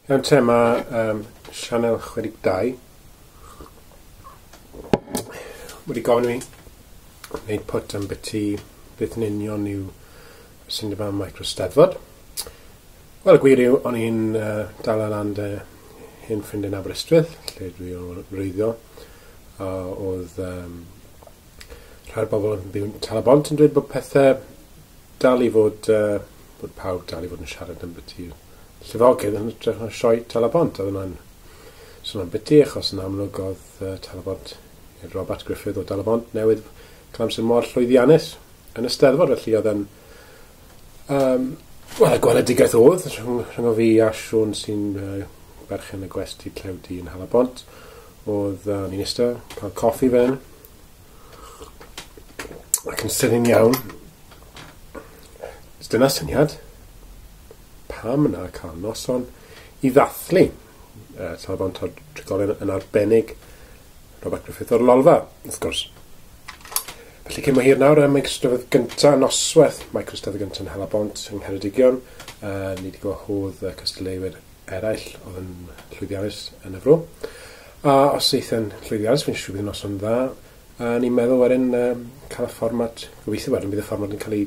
Iawn te, mae Sianel 62 wedi gofyn i mi wneud pwt am byti beth yn union yw syniad yma Micro Steddfod. Wel, y gwir yw, o'n i'n dal lan dy hen ffrind yn Aberystwyth, lle dwi o'n wreiddiol, a oedd rhai o'r bobl yn byw yn Tal-y-bont yn dweud bod pethau dal i fod, bod pawb dal i fod yn siarad am byti llifogydd yn hytrach na sioe Tal-y-bont. Oedd hwnna'n swnio'n biti, achos yn amlwg oedd Tal-y-bont, Robert Griffith o Tal-y-bont newydd cael amser mor llwyddiannus yn y Steddfod, felly oedd yn wel, y gweledigaeth oedd rhwng o fi a Siôn sy'n berchen y gwesty Clewdi yn Nhal-y-bont, oedd ni'n eistedd, cael coffi fan ac yn sydyn iawn. Dyna syniad. Pam na cael noson i ddathlu Tal-y-bont o'r trigolion, yn arbennig Robert Griffith o'r Lolfa, wrth gwrs. Felly cyn bo hir nawr, Micro Steddfod gynta, noswaith Micro Steddfod gynta yn Nhal-y-bont yng Ngheredigion. Ni wedi gwahodd cystadleuwyr eraill oedd yn llwyddiannus yn y fro. A os eith yn llwyddiannus, fi'n siŵr bydd noson dda. A ni'n meddwl wedyn cael y fformat, gobeithio wedyn bydd y fformat yn cael ei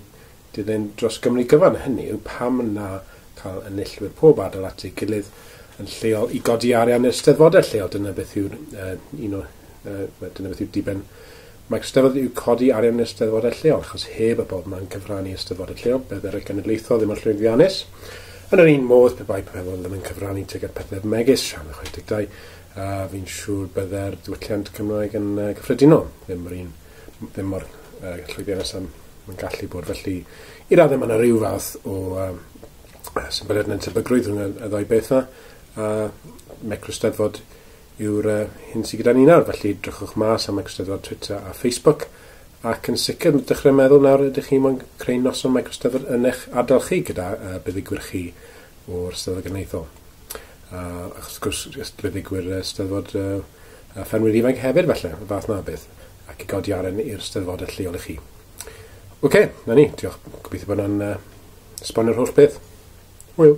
dilyn dros Gymru gyfan. Hynny yw pam na cael enillwyr pob ardal at ei gilydd yn lleol i godi arian i'r steddfodau lleol. Dyna beth yw'r un o dyna beth yw diben Micro Steddfod, yw codi arian i'r steddfodau lleol, achos heb y bobl ma'n cyfrannu i'r steddfodau lleol, byddai'r genedlaethol ddim yn llwyddiannus. Yn yr un modd, pe bai pobl ddim yn cyfrannu tuag at pethau megis Sianel 62, fi'n siŵr byddai'r diwylliant Cymraeg yn gyffredinol ddim yr un, ddim mor llwyddiannus am mae'n gallu bod. Felly, i raddau mae yna rhyw fath o symbyliad neu'n tebygrwydd rhwng y ddau beth yna. A Micro Steddfod yw'r hyn sydd gyda ni nawr. Felly, drychwch mas am Micro Steddfod Twitter a Facebook. Ac yn sicr, dechrau meddwl nawr ydych chi'n moyn creu noson Micro Steddfod yn eich ardal chi gyda buddugwyr chi o'r Steddfod Genedlaethol. Achos wrth gwrs, buddugwyr Steddfod Ffermwyr Ifanc hefyd, falle, y fath na beth, ac i godi arian i'r Steddfodau lleol i chi. Oce, na ni, diolch. Gobeithio bod hwnna'n esbonio'r holl beth. Hwyl.